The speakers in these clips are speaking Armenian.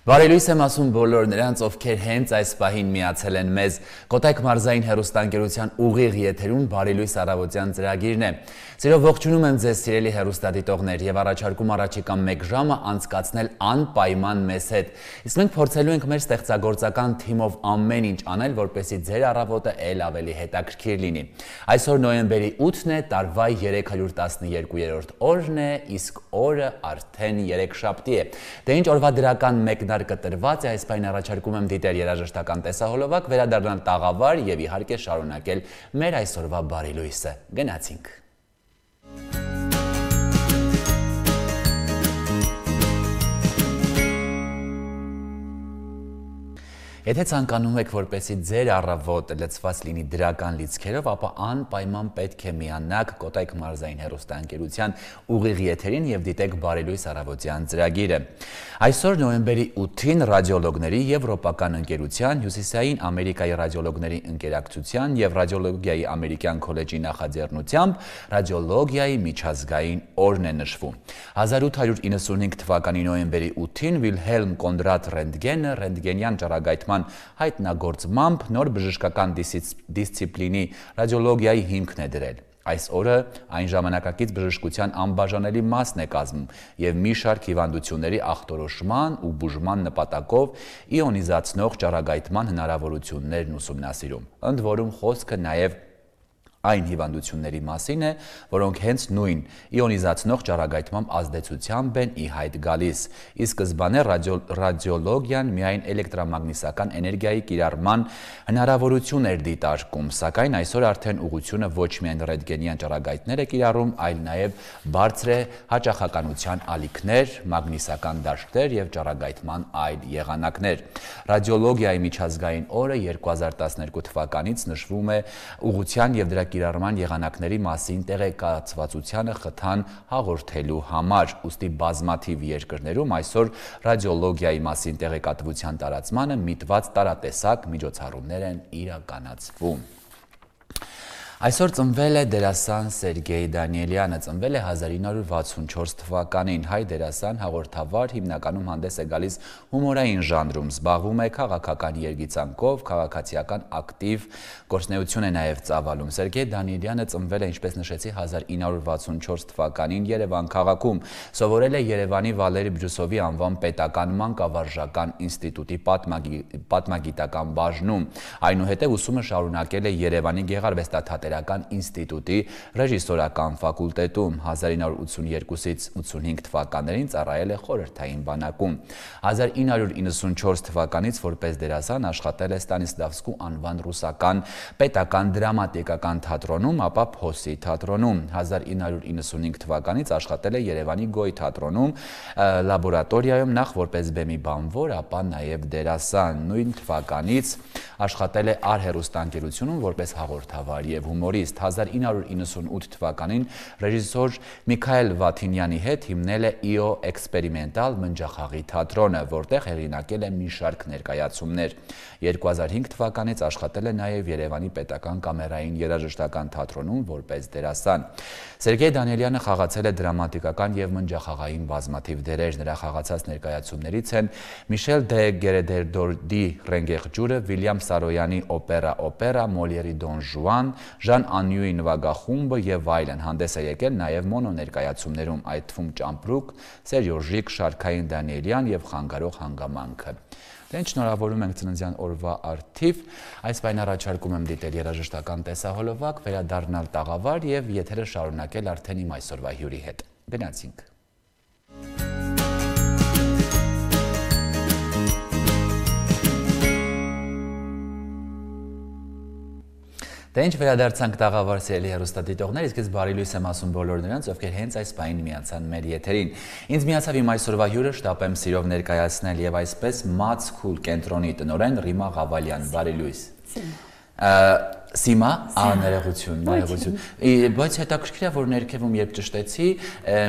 Բարելույս եմ ասում բոլոր նրանց, ովքեր հենց այս պահին միացել են մեզ։ Կոտայք մարզային հեռուստաընկերության ուղիղ եթերում բարելույս առավոտյան ծրագիրն է։ Սիրով ողջունում եմ ձեզ սիրելի հեռուստադիտողներ եւ առաջարկում առաջիկա 1 ժամը անցկացնել անպայման մեզ հետ։ Իսկ մենք փորձելու ենք մեր ստեղծագործական թիմով ամեն ինչ անել, որպեսզի ձեր առավոտը ել ավելի հետաքրքիր լինի։ Այսօր նոյեմբերի 8-ն է, տարվա 312-րդ օրն է, իսկ օրը արդեն երեքշաբթի է։ Դե ինչ օրվա դրական մեկնարկը տրված է, այս պայն առաջարկում եմ դիտել երաժշտական տեսահոլովակ, վերադառնալ տաղավար եւ իհարկե շարունակել մեր այսօրվա բարելույսը։ Գնացինք։ Եթե ցանկանում եք, որպեսզի ձեր առավոտը լցված լինի դրական լիցքերով, ապա անպայման պետք է միանաք Կոտայք մարզային հեռուստաընկերության ուղիղ եթերին եւ դիտեք բարելույս առավոտյան ծրագիրը։ Այսօր նոյեմբերի 8-ին ռադիոլոգների Եվրոպական ընկերության, Հյուսիսային Ամերիկայի ռադիոլոգների ընկերակցության եւ ռադիոլոգիայի ամերիկյան քոլեջի նախաձեռնությամբ ռադիոլոգիայի միջազգային օրն է նշվում։ 1895 թվականի նոյեմբերի 8-ին Վիլհելմ Կոնդրատ Ռենտգենը ռենտգենյան ճառագայթման հայտնագործմամբ նոր բժշկական դիսցիպլինի ռադիոլոգիայի հիմքն է դրել։ Այս օրը այն ժամանակակից բժշկության անբաժանելի մասն է կազմում եւ մի շարք հիվանդությունների ախտորոշման ու բուժման նպատակով իոնիզացնող ճառագայթման հնարավորություններն ուսումնասիրում։ Ընդ որում խոսքը նաեւ այն հիվանդությունների մասին է, որոնք հենց նույն իոնիզացնող ճառագայթման ազդեցությամբ են ի հայտ գալիս։ Ի սկզբանե ռադիոլոգիան միայն էլեկտրամագնիսական էներգիայի կիրառման հնարավորություն էր դիտարկում, սակայն այսօր արդեն ուղղությունը ոչ միայն ռենտգենյան ճառագայթներ է կիրառում, այլ նաև բարձր է հաճախականության ալիքներ, մագնիսական դաշտեր եւ ճառագայթման այլ եղանակներ։ Ռադիոլոգիայի միջազգային օրը 2012 թվականից նշվում է ուղղության եւ դրա կիրառման եղանակների մասին տեղեկացվածությանը խթան հաղորդելու համար, ուստի բազմաթիվ երկրներում այսօր ռադիոլոգիայի մասին տեղեկատվության տարածմանը միտված տարատեսակ միջոցառումներ են իրականացվում։ Այսօր ծնվել է դերասան Սերգեյ Դանիելյանը, ծնվել է 1964 թվականին, հայ դերասան, հաղորդավար, հիմնականում հանդես է գալիս հումորային ժանրում, զբաղվում է քաղաքական երգիծանքով, քաղաքացիական ակտիվ գործունեություն է նաև ծավալում։ Սերգեյ Դանիելյանը ծնվել է, ինչպես նշեցի, 1964 թվականին Երևան քաղաքում, սովորել է Երևանի Վալերի Բրյուսովի անվան պետական մանկավարժական ինստիտուտի պատմագիտական բաժնում, այնուհետև ուսումը շարունակել է Երևանի Գեղարվեստաթատերական ինստիտուտի ռեժիսորական ֆակուլտետում, 1982-ից 85 թվականներին ծառայել է խորհրդային բանակում։ 1994 թվականից որպես դերասան աշխատել է Ստանիսլավսկու անվան ռուսական պետական դրամատիկական թատրոնում, ապա Փոսի թատրոնում։ 1995 թվականից աշխատել է Երևանի Գոյ թատրոնում, լաբորատորիայում նախ որպես բեմի բանվոր, ապա նաև դերասան։ Նույն թվականից աշխատել է արհերուստաընկերությունում որպես հաղորդավար եւ հումորիստ։ 1998 թվականին ռեժիսոր Միքայել Վաթինյանի հետ հիմնել է ԻՕ էքսպերիմենտալ մնջախաղի թատրոնը, որտեղ հեղինակել է մի շարք ներկայացումներ։ 2005 թվականից աշխատել է նաև Երևանի պետական կամերային երաժշտական թատրոնում որպես դերասան։ Սերգեյ Դանիելյանը խաղացել է դրամատիկական եւ մնջախաղային բազմաթիվ դերեր։ Նրա խաղացած ներկայացումներից են Միշել դե Գերեդերդորդի Ռենգեղ ջուրը, Վիլյամ Սարոյանի օպերա, Մոլիերի Դոն Ժուան, Ժան Անյուի նվագախումբը եւ այլն։ Հանդես է եկել նաեւ մոնո ներկայացումներում, այդ թվում Ճամպրուկ, Սերյոժիկ, Շարքային Դանիելյան եւ Խանգարող հանգամանքը։ Դե շնորհավորում ենք ծննդյան օրվա առթիվ, այս պայն առաջարկում եմ դիտել երաժշտական տեսահոլովակ, վերադառնալ տաղավար եւ եթերը շարունակել արդեն իմ այսօրվա հյուրի հետ։ Գնացինք։ Դե ինչ վերադարձանք տաղավար սիրելի հեռուստադիտողներ, իսկ ես բարելույս եմ ասում բոլոր նրանց, ովքեր հենց այս պահին միացան մեր եթերին։ Ինձ միացավ իմ այսօրվա հյուրը, շտապ եմ սիրով ներկայացնել եւ այսպես Մաց Քուլ կենտրոնի տնօրեն Ռիմա Ղավալյան, բարելույս։ Սիմա, ներողություն։ Բայց հետաքրքիր է, որ ներքևում երբ ճշտեցի,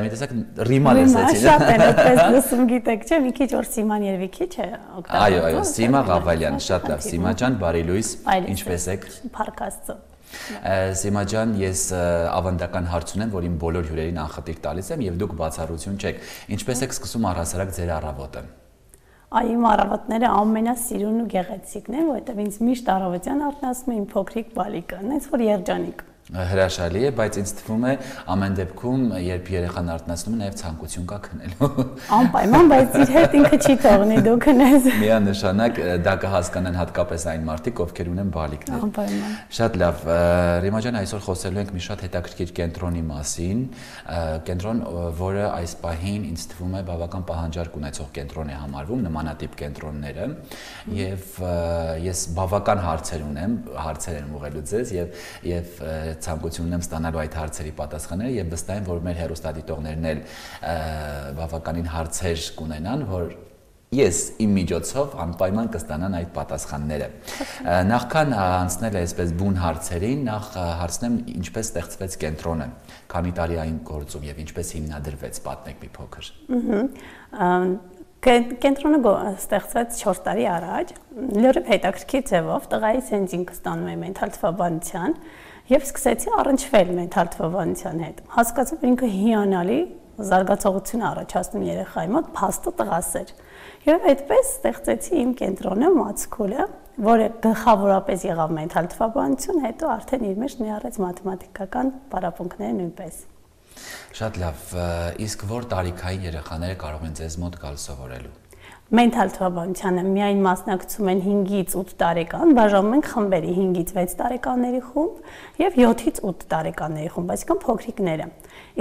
մի տեսակ Ռիմա լսեցի։ Շատ են, այդպես լսում գիտեք, չէ՞, մի քիչ որ Սիման երևի քիչ է օգտագործում։ Այո, Սիմա Ղավալյան, շատ լավ, Սիմա ջան, բարելույս, ինչպես եք։ Փառք Աստծո։ Սիմա ջան, ես ավանդական հարց ունեմ, որ իմ բոլոր հյուրերին անխտիր տալիս եմ եւ դուք բացառություն չեք։ Ինչպես եք սկսում առհասարակ ձեր առավոտը։ Այ իմ առավոտները ամենասիրուն ու գեղեցիկն են, որովհետև ինձ միշտ առավոտյան արթնացնում է իմ փոքրիկ բալիկը, այնց որ երջանիկ։ Հրաշալի է, բայց ինձ թվում է ամեն դեպքում, երբ երեխան արթնացնում է, նաև ցանկություն կա քնելու։ Անպայման, բայց իր հետ ինքը չի թողնի, դու քնես։ Միանշանակ դա կհասկանան հատկապես այն մարդիկ, ովքեր ունեն բալիկներ։ Անպայման։ Շատ լավ։ Ռիմա ջան, այսօր խոսելու ենք մի շատ հետաքրքիր կենտրոնի մասին, կենտրոն, որը այս պահին ինձ թվում է բավական պահանջարկ ունեցող կենտրոն է համարվում, նմանատիպ կենտրոնները, եւ ես բավական հարցեր ունեմ, հարցեր եմ ուղղելու ձեզ եւ ցանկություն ունեմ ստանալու այդ հարցերի պատասխանները եւ վստահ եմ, որ մեր հեռուստադիտողներն էլ բավականին հարցեր կունենան, որ ես իմ միջոցով անպայման կստանան այդ պատասխանները։ Նախքան անցնել այսպես բուն հարցերին, նախ հարցնեմ ինչպես ստեղծվեց կենտրոնը, քանի տարի այն գործում եւ ինչպես հիմնադրվեց, պատմեք մի փոքր։ Կենտրոնը ստեղծվեց 4 տարի առաջ, լրիվ հետաքրքիր ձևով, տղայիս հենց ինքը ստանում է մենթալ թվաբանության եւ սկսեցի առնչվել մենթալ թվաբանության հետ։ Հասկացա, որ ինքը հիանալի զարգացողություն առաջացնում երեխայի մոտ, փաստը տղաս էր։ Եվ այդպես ստեղծեցի իմ կենտրոնը Մացքուլը, որը գլխավորապես եղավ մենթալ թվաբանություն, հետո արդեն իր մեջ ներառեց մաթեմատիկական պարապմունքները նույնպես։ Շատ լավ, իսկ որ տարիքային երեխաները կարող են ձեզ մոտ գալ սովորելու։ Մենթալ թվաբանությանը միայն մասնակցում են 5-ից 8 տարեկան, բաժանում են խմբերի 5-ից 6 տարեկանների խումբ եւ 7-ից 8 տարեկանների խումբ, այսինքն փոքրիկները։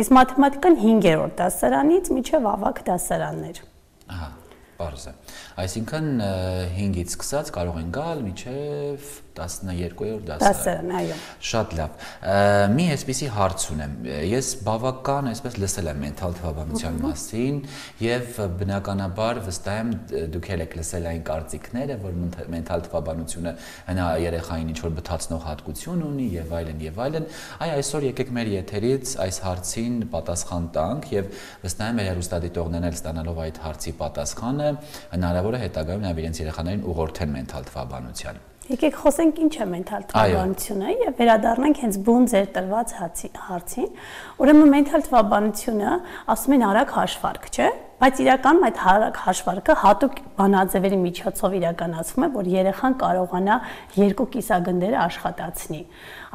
Իսկ մաթեմատիկան 5-րդ դասարանից մինչեւ ավագ դասարաններ։ Ահա, բարձ է։ Այսինքն 5-ից սկսած կարող են գալ մինչեւ 12-րդ դասարան, այո։ Շատ լավ։ Մի այսպիսի հարց ունեմ։ Ես բավական այսպես լսել եմ մենթալ թվաբանության մասին եւ բնականաբար վստահ եմ դուք եք լսել այն կարծիքները, որ մենթալ թվաբանությունը հնա երեխային ինչ որ բթացնող հատկություն ունի եւ այլն եւ այլն։ Այ այսօր եկեք մեր եթերից այս հարցին պատասխան տանք եւ վստահ եմ հեռուստադիտողներն էլ ստանալով այդ հարցի պատասխանը հնարավոր է հետագայում նաեւ իրենց երեխաներին ուղղորդեն մենթալ թվաբանության։ Եկեք խոսենք ինչ է մենթալ թվաբանությունը եւ վերադառնանք հենց բուն ձեր տրված հարցին։ Ուրեմն մենթալ թվաբանությունը ասում են արագ հաշվարկ, չէ՞, բայց իրականում այդ արագ հաշվարկը հատուկ բանաձևերի միջոցով իրականացվում է, որ երեխան կարողանա երկու կիսագնդերը աշխատացնի։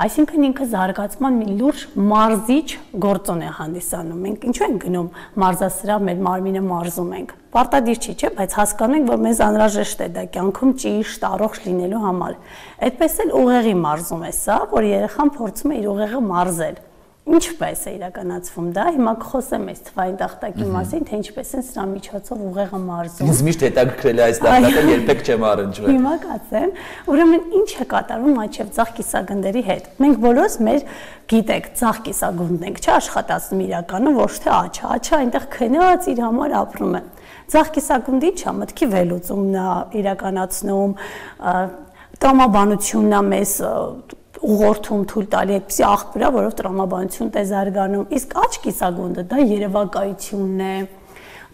Այսինքն ինքը զարգացման մի լուրջ մարզիչ գործոն է հանդիսանում։ Մենք ինչու ենք գնում մարզասրահ, մեր մարմինը մարզում ենք։ Պարտադիր չի, չէ՞, բայց հասկանում ենք, որ մեզ անհրաժեշտ է դա կյանքում ճիշտ, առողջ լինելու համար։ Այդպես էլ ուղեղի մարզում է սա, որ երեխան փորձում է իր ուղեղը մարզել։ Ինչպես է իրականացվում դա։ Հիմա կխոսեմ այս թվային տախտակի մասին, թե ինչպես են սրա միջոցով ուղեղը մարզում։ Ինձ միշտ հետաքրքրել է այս տախտակը, երբեք չեմ առնչվել։ Հիմա կասեմ, ուրեմն ինչ է կատարվում աչև ձախ կիսագնդերի հետ։ Մենք բոլորս մեր գիտեք, ձախ կիսագունդն ենք, չէ՞, աշխատացնում իրականում, ոչ թե աչը, աչը այնտեղ քնած իր համար ապրում է։ Ձախ կիսագունդի ինչա մտքի վերլուծումն է իրականացնում, տրամաբանությունն է մեզ ուղղորդում թույլ տալի այդպիսի աղբյուրա, որով տրամաբանությունն է զարգանում, իսկ աչ կիսագունդը դա երևակայությունն է,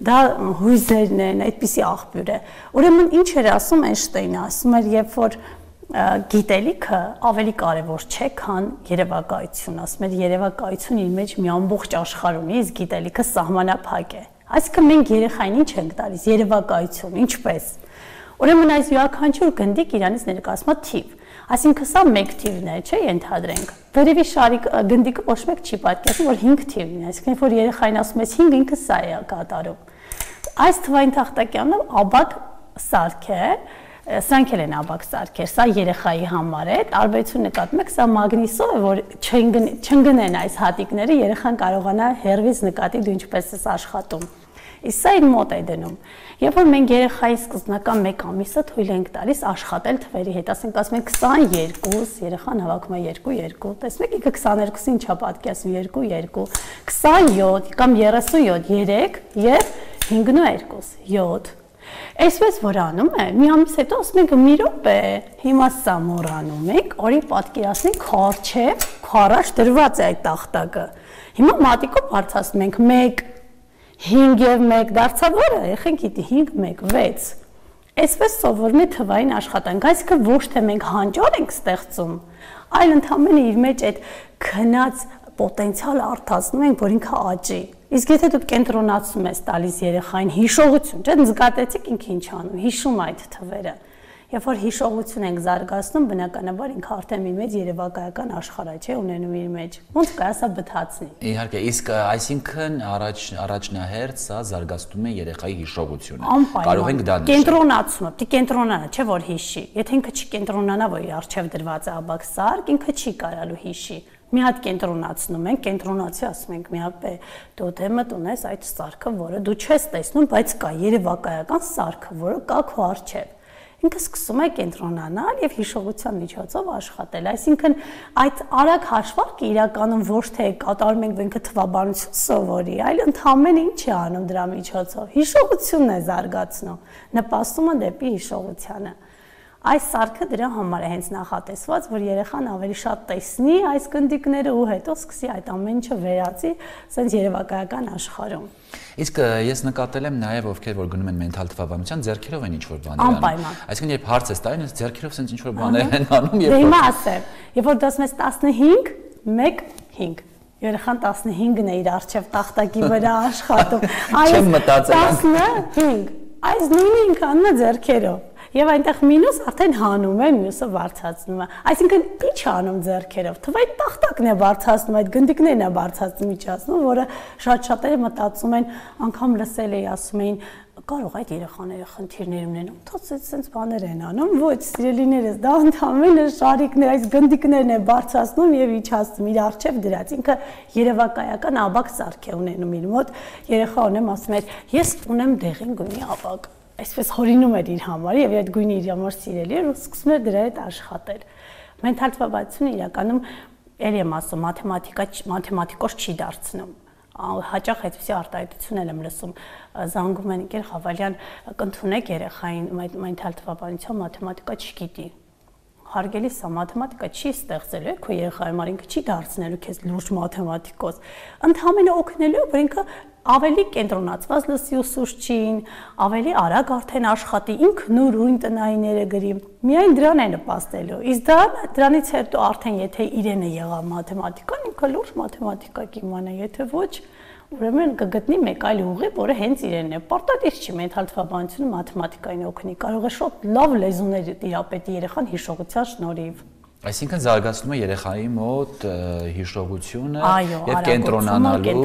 դա հույզերն են, այդպիսի աղբյուր է։ Ուրեմն ինչ էր ասում Էյնշտեյնը, ասում էր, երբ որ գիտելիքը ավելի կարևոր չէ, քան երևակայություն, ասում էր երևակայությունը իր մեջ մի ամբողջ աշխարհ ունի, իսկ գիտելիքը սահմանափակ է։ Այսինքն մենք երեխային ինչ ենք տալիս, երևակայություն, ինչպես։ Ուրեմն այս յուրաքանչյուր գնդիկ իրանից ներկայացնում է թիվ։ Այսինքն սա 1 թիվն է, չէ՞, ենթադրենք։ Վերևի շարի գնդիկը ոչ մեկ չի պատկերացնում, որ 5 թիվն է, այսինքն որ երեխային ասում ես 5, ինքը սա է կատարում։ Այս թվային տախտակյանը աբակ սարք է, սրանք էլ են աբակ սարքեր, սա երեխայի համար է, տարբերություն նկատում եք, սա մագնիսով է, որ չընկնեն այս հատիկները, երեխան կարողանա հեռվից նկատի դու ինչպես ես աշխատում։ Իսկ սա իր մոտ է դնում։ Երբ որ մենք երեխայի սկզբնական 1 ամիսը թույլ ենք տալիս աշխատել թվերի հետ, ասենք ասում ենք 22, երեխան հավաքում է 2, տեսնեք ինքը 22-ին ինչա պատկերացնում 2, 27 կամ 37, 3 եւ 5 2, 7։ Այսպես որ անում է, մի ամիս հետո ասում ենք մի րոպե, հիմա սա մոռանում ենք, օրի պատկերացնենք քարչև, քարաշ դրված է այդ տախտակը։ Հիմա մատիկով բարձրացնում ենք 1 5 եւ 1 դարձավ որը, եղեք գիտի 5 1 6։ Այսպես սովորում է թվային աշխատանք, այսինքն ոչ թե մենք հանճար ենք ստեղծում, այլ ընդհանրապես իր մեջ այդ քնած պոտենցիալը արտացնում ենք, որ ինքը աճի։ Իսկ եթե դուք կենտրոնացում ես տալիս երեխային հիշողություն, չէ՞, նկատեցիք ինքը ինչ անում, հիշում այդ թվերը։ Երբ որ հիշողություն ենք զարգացնում, բնականաբար ինքը արդեն մի մեծ երևակայական աշխարհ է, չէ՞, ունենում իր մեջ։ Ոնց կարա բթացնի։ Իհարկե, իսկ այսինքն առաջնահերթ սա զարգացնում է երեխայի հիշողությունը։ Կարող ենք դա նշել։ Կենտրոնացումը, պիտի կենտրոնանա, չէ՞ որ հիշի։ Եթե ինքը չի կենտրոնանա, որ իր արժև դրված է աբակ սարք, ինքը չի կարալու հիշի։ Մի հատ կենտրոնացնում ենք, կենտրոնացի ասում ենք, մի հատ տոտեմդ ունես այդ սարքը, որը դու չես տեսնում, բայց կա երևակայական սարքը, որը կա քո առջև։ Ինքը սկսում է կենտրոնանալ եւ հիշողության միջոցով աշխատել։ Այսինքն այդ արագ հաշվարկը իրականում ոչ թե կատարում ենք, որ ինքը թվաբանություն սովորի, այլ ընդհանրեն ինչ է անում դրա միջոցով։ Հիշողությունն է զարգացնում, նպաստում է դեպի հիշողությանը։ Այս սարքը դրա համար է հենց նախատեսված, որ երեխան ավելի շատ տեսնի այս գնդիկները ու հետո սկսի այդ ամեն ինչը վերածի սենց երևակայական աշխարհում։ Իսկ ես նկատել եմ նաև ովքեր որ գնում են մենթալ թվաբանության, ձեռքերով են ինչ-որ բաներ անում։ Այսինքն երբ հարց ես տալիս, ձեռքերով սենց ինչ-որ բաներ են անում եւ հիմա ասեմ, երբ որ դասում ես 15, 1, 5 երեխան 15-ն է իր արժև տախտակի վրա աշխատում։ Չեմ մտածել 15, այս նույնը ինքը անում է ձեռքերով։ Եվ այնտեղ մինուս արդեն հանում է, մյուսը բարձրացնում է։ Այսինքն ի՞նչ է անում ձեռքերով։ Թվայի տախտակն է բարձրացնում, այդ գնդիկներն է բարձրացնում, միջացնում, որը շատ-շատերը մտածում են, անգամ լսել էի ասում էին, կարող այդ երեխաները խնդիրներ ունեն, թող այդպես բաներ են անում։ Ոչ, սիրելիներս, դա ընդհանրապես շարիկներ, այս գնդիկներն է բարձրացնում եւ իջացնում իր արժեվ դրած։ Ինքը երևակայական աբակ սարք է ունենում իր մոտ։ Երեխա ունեմ ասում է, ես ունեմ դեղին գույնի աբակ։ Այսպես հորինում էր իր համար եւ այդ գույնը իր համար սիրելի էր ու սկսում էր դրա հետ աշխատել։ Մենթալ թվաբանությունը իրականում ել եմ ասում, մաթեմատիկոս չի դարձնում։ Հաճախ այդպիսի արտահայտություն եմ լսում, զանգում են ինքեր Խավալյան, կընդունեք երեխային մենթալ թվաբանության մաթեմատիկա չգիտի։ Հարգելի սա մաթեմատիկա չի ստեղծելու, քո երեխայի համար ինքը չի դարձնելու քեզ լուրջ մաթեմատիկոս։ Ընդհանրապես օգնելու, որ ինքը ավելի կենտրոնացված լսի ուսուցչին, ավելի արագ արդեն աշխատի, ինքն ուրույն տնայինները գրի։ Միայն դրան է նպաստելու։ Իսկ դրանից հետո արդեն եթե իրենը եղավ մաթեմատիկան, ինքը լուրջ մաթեմատիկա կիմանա, եթե ոչ, ուրեմն կգտնի մեկ այլ ուղի, որը հենց իրենն է։ Պարտադիր չի մենթալ թվաբանությունը մաթեմատիկային օգնի, կարող է շատ լավ լեզուներ տիրապետի երեխան հիշողության շնորհիվ։ Այսինքն զարգացնում է երեխայի մոտ հիշողությունը եւ կենտրոնանալու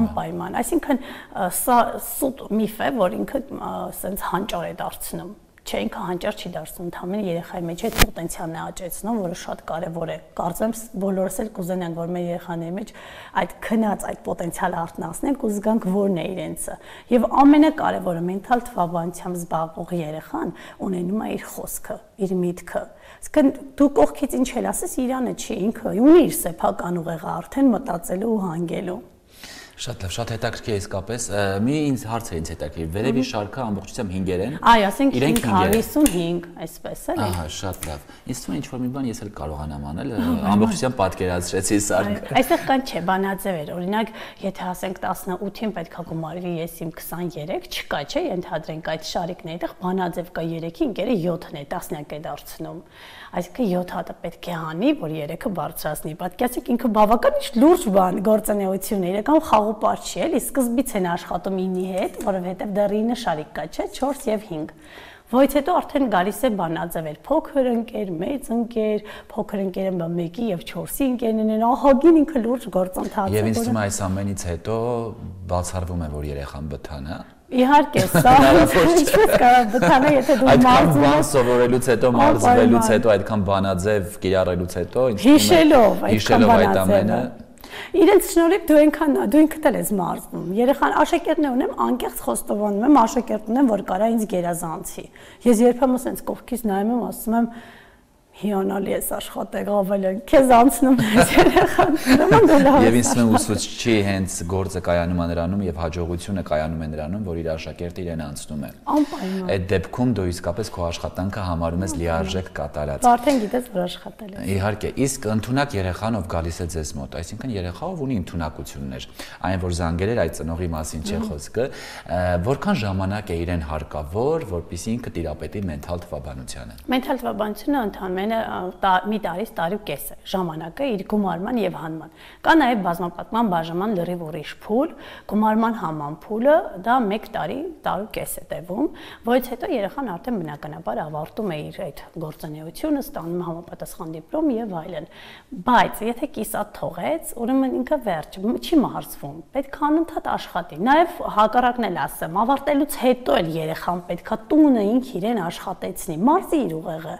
անպայման։ Այսինքն սա սուտ միֆ է, որ ինքը սենց հանճար է դարձնում։ Չէ, ինքը հանճար չի դարձնում, ընդհանրապես երեխայի մեջ այդ պոտենցիալն է աճեցնում, որը շատ կարևոր է։ Կարծեմ բոլորս էլ կուզենանք, որ մեր երեխաների մեջ այդ քնած այդ պոտենցիալը արտնասնենք ու զգանք որն է իրենցը։ Եվ ամենակարևորը մենթալ թվաբանությամբ զբաղվող երեխան ունենում է իր խոսքը, իր միտքը։ Իսկն դու կողքից ինչ էլ ասես, իրանը չի, ինքը ունի իր սեփական ուղեղը արդեն մտածելու ու հանգելու։ Շատ լավ, շատ հետաքրքիր է իսկապես։ Մի ինձ հարց է ինձ հետաքրքիր։ Վերևի շարքը ամբողջությամբ 5-եր են։ Այո, ասենք 555, այսպես է։ Ահա, շատ լավ։ Ինձ թվում է ինչ-որ մի բան ես էլ կարողանամ անել, ամբողջությամբ պատկերացրեցի սարքը։ Այստեղ կան չէ, բանաձև էր։ Օրինակ, եթե ասենք 18-ին պետք է գումարի ես իմ 23, չկա, չէ, ենթադրենք այդ շարիկն է, այդտեղ բանաձև կա 3-ի, ինքերը 7-ն է, 10-նյակ է դարձնում։ Այսինքն 7 հատը պետք է հանի, որ 3-ը բարձրացնի։ Պատկերացրեք, ինքը բավական ինչ լուրջ բան, գործունեություն է, իրական խաղապար չի, էլի, սկզբից են աշխատում 9-ի հետ, որովհետև դեռ 9 շարիկ կա, չէ, 4 եւ 5։ Ոյց հետո արդեն գալիս է բանաձևեր, փոքր ընկեր, մեծ ընկեր, փոքր ընկերը 1-ի եւ 4-ի ընկերներն են, ահագին ինքը լուրջ գործընթաց է։ Եվ ինձ թվում է այս ամենից հետո բացառվում է, որ երեխան բթանա։ Իհարկե, սա ինչպես կարող բթանա, եթե դու այդքան բան սովորելուց հետո, մարզվելուց հետո, այդքան բանաձև կիրառելուց հետո, հիշելով այդ ամենը։ Իրենց շնորհիվ դու ինքդ էլ ես մարզվում։ Երեխան աշակերտներ ունեմ, անկեղծ խոստովանում եմ, աշակերտ ունեմ, որ կարա ինձ գերազանցի։ Ես երբեմն ասենց կողքից նայում եմ, ասում եմ հիանալի ես աշխատել, Ավելյան, քեզ անցնում ես երեխան։ Եվ ինձ թվում է ուսուցչի հենց գործը կայանում է նրանում եւ հաջողությունը կայանում է նրանում, որ իր աշակերտը իրեն անցնում է։ Անպայման։ Այդ դեպքում դու իսկապես քո աշխատանքը համարում ես լիարժեք կատարած։ Արդեն գիտես, որ աշխատել ես։ Իհարկե, իսկ ընդունակ երեխան ով գալիս է ձեզ մոտ, այսինքն երեխա ով ունի ընդունակություններ, այն որ զանգել էր այդ ծնողի մասին չէ խոսքը, որքան ժամանակ է իրեն հարկավոր, որպեսզի ինքը տիրապետի մենթալ թվաբանությանը։ Մենթալ թվաբանությունը ընդհանրապես ընդամենը մի տարի կես է ժամանակը իր գումարման եւ հանման։ Կա նաեւ բազմապատկման բաժանման լրիվ ուրիշ փուլ, գումարման հանման փուլը դա 1 տարի կես է տևում, որից հետո երեխան արդեն բնականաբար ավարտում է իր այդ գործունեությունը, ստանում է համապատասխան դիպլոմ եւ այլն։ Բայց եթե կիսատ թողեց, ուրեմն ինքը վերջ, չի մահացվում, պետք է անընդհատ աշխատի։ Նաեւ հակառակն էլ ասեմ, ավարտելուց հետո էլ երեխան պետքա տունը ինք իրեն աշխատեցնի, մարզի իր ուղեղը։